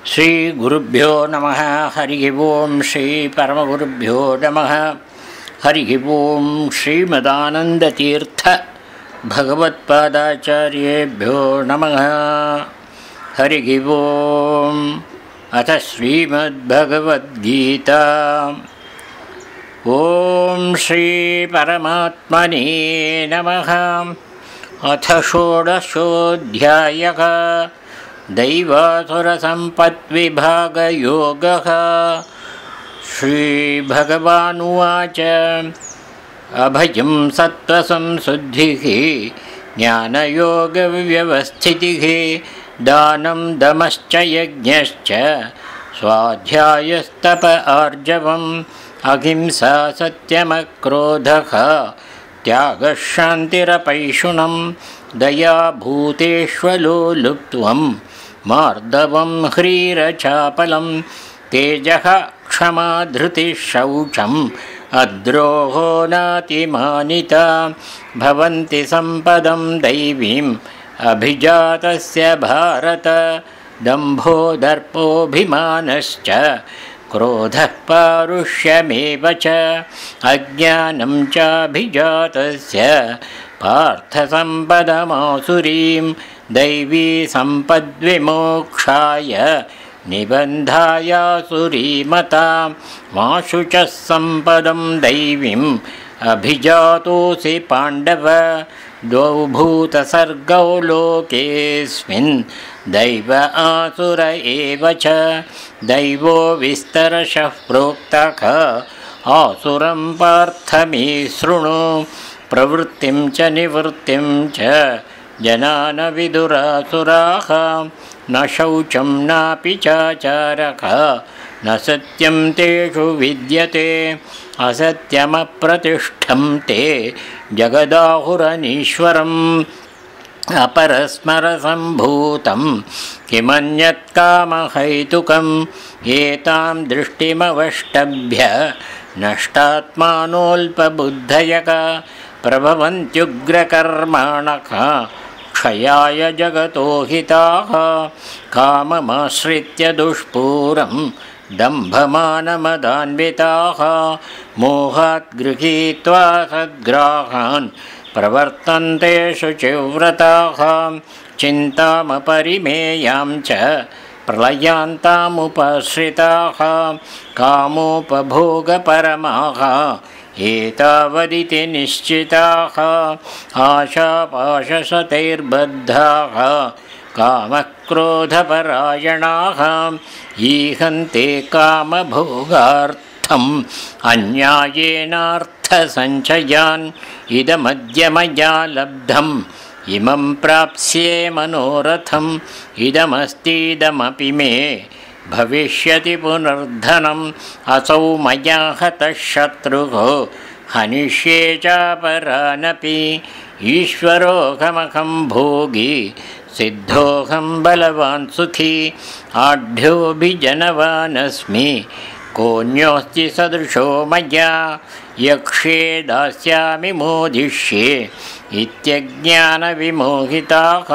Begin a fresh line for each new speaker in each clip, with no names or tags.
श्रीगुरुभ्यो नमः। हरि ओं श्री परमगुरुभ्यो नमः। हरि ओं श्रीमदानन्दतीर्थ भगवत्पादाचार्येभ्यो नमः। हरि ओं। अथ श्रीमद्भगवद्गीता। ओं श्री परमात्मने नमः। अथ षोडशोऽध्यायः। दैवासुरसम्पद्विभागयोगः। श्रीभगवानुवाच अभयं सत्त्वसंशुद्धिः ज्ञानयोगव्यवस्थितिः दानं दमश्च यज्ञश्च स्वाध्यायस्तप आर्जवम् अहिंसा सत्यमक्रोधः त्यागः शान्तिरपैशुनं दया भूतेष्वलोलुप्त्वं मार्दवं ह्रीरचापलं तेजः क्षमा धृतिः शौचम् अद्रोहो नातिमानिता भवन्ति सम्पदं दैवीम् अभिजातस्य भारत दम्भो दर्पोऽभिमानश्च क्रोधः पारुष्यमेव च अज्ञानं चाभिजातस्य पार्थसम्पदमासुरीं दैवी सम्पद्विमोक्षाय निबन्धायासुरीमता माशु च सम्पदं दैवीम् अभिजातोऽसि पाण्डव द्वौ भूतसर्गौ लोकेऽस्मिन् दैव आसुर एव च दैवो विस्तरशः प्रोक्तः आसुरं पार्थ मे शृणु प्रवृत्तिं च निवृत्तिं च जनान विदुरासुराः न शौचं नापि चाचारः न सत्यं तेषु विद्यते असत्यमप्रतिष्ठं ते जगदाहुरनीश्वरम् अपरस्मरसम्भूतं किमन्यत् कामहैतुकम् एतां दृष्टिमवष्टभ्य नष्टात्मानोऽल्पबुद्धयः प्रभवन्त्युग्रकर्माणः क्षयाय जगतो हिताः काममाश्रित्य दुष्पूरं दम्भमानमदान्विताः मोहात् गृहीत्वा सद्ग्राहान् प्रवर्तन्ते शुचिव्रताः चिन्तामपरिमेयां च प्रलयान्तामुपाश्रिताः कामोपभोगपरमाः एतावदिति निश्चिताः आशापाशशतैर्बद्धाः कामक्रोधपरायणाः ईहन्ते कामभोगार्थम् अन्यायेनार्थसञ्चयान् इदमद्य मया लब्धम् इमं प्राप्स्ये मनोरथम् इदमस्तीदमपि मे भविष्यति पुनर्धनम् असौ मया हतः शत्रुः हनिष्ये चापरानपि ईश्वरोऽहमहं भोगी सिद्धोऽहं बलवान् सुखी आढ्योऽभिजनवानस्मि कोऽन्योऽस्ति सदृशो मया यक्ष्ये दास्यामि मोदिष्ये इत्यज्ञानविमोहिताः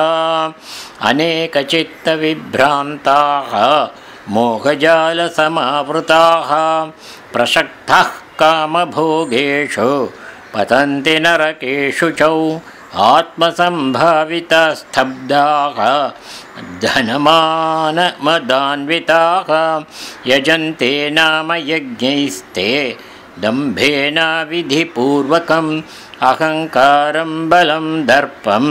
अनेकचित्तविभ्रान्ताः मोहजालसमावृताः प्रसक्ताः कामभोगेषु पतन्ति नरकेषु च आत्मसम्भावितास्तब्धाः धनमानमदान्विताः यजन्ते नाम यज्ञैस्ते दम्भेन विधिपूर्वकम् अहङ्कारं बलं दर्पं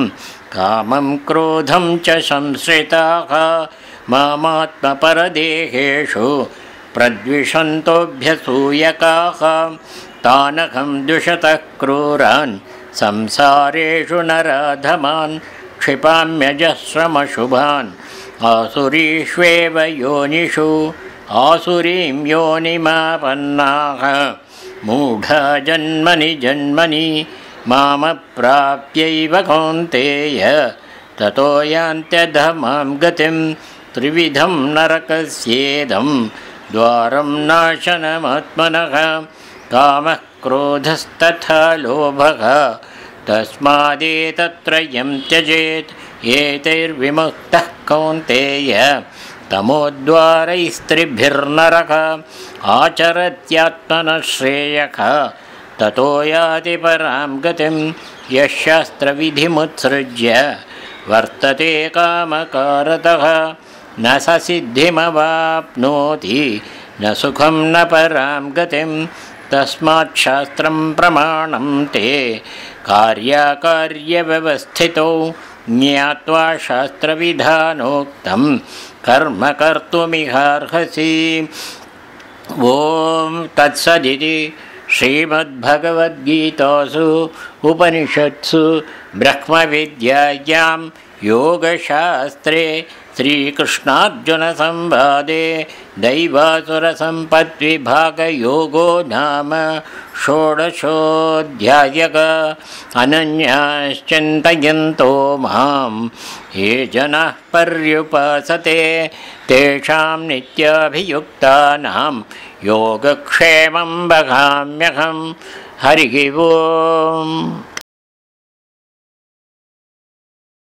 कामं क्रोधं च संश्रिताः मामात्मपरदेहेषु प्रद्विषन्तोऽभ्यसूयकाः तानहं द्विषतः क्रूरान् संसारेषु नराधमान् क्षिपाम्यजस्रमशुभान् आसुरीष्वेव योनिषु आसुरीं योनिमापन्नाः मूढा जन्मनि जन्मनि मामप्राप्यैव कौन्तेय ततो यान्त्यधमां गतिं त्रिविधं नरकस्येदं द्वारं नाशनमात्मनः कामः क्रोधस्तथा लोभः तस्मादेतत्त्रयं त्यजेत् एतैर्विमुक्तः कौन्तेय तमोद्वारैस्त्रिभिर्नरः आचरत्यात्मनः श्रेयः ततो याति परां गतिं यः शास्त्रविधिमुत्सृज्य वर्तते कामकारतः न स सिद्धिमवाप्नोति न सुखं न परां गतिं तस्मात् शास्त्रं प्रमाणं ते कार्याकार्यव्यवस्थितौ ज्ञात्वा शास्त्रविधानोक्तं कर्म कर्तुमिहार्हसि। ॐ तत्सदिति श्रीमद्भगवद्गीतासु उपनिषत्सु ब्रह्मविद्यायां योगशास्त्रे श्रीकृष्णार्जुनसंवादे दैवासुरसम्पद्विभागयोगो नाम षोडशोऽध्यायः। अनन्याश्चिन्तयन्तो मां ये जनाः पर्युपासते तेषां नित्याभियुक्तानां योगक्षेमं वहाम्यहम्। हरिः ओम्।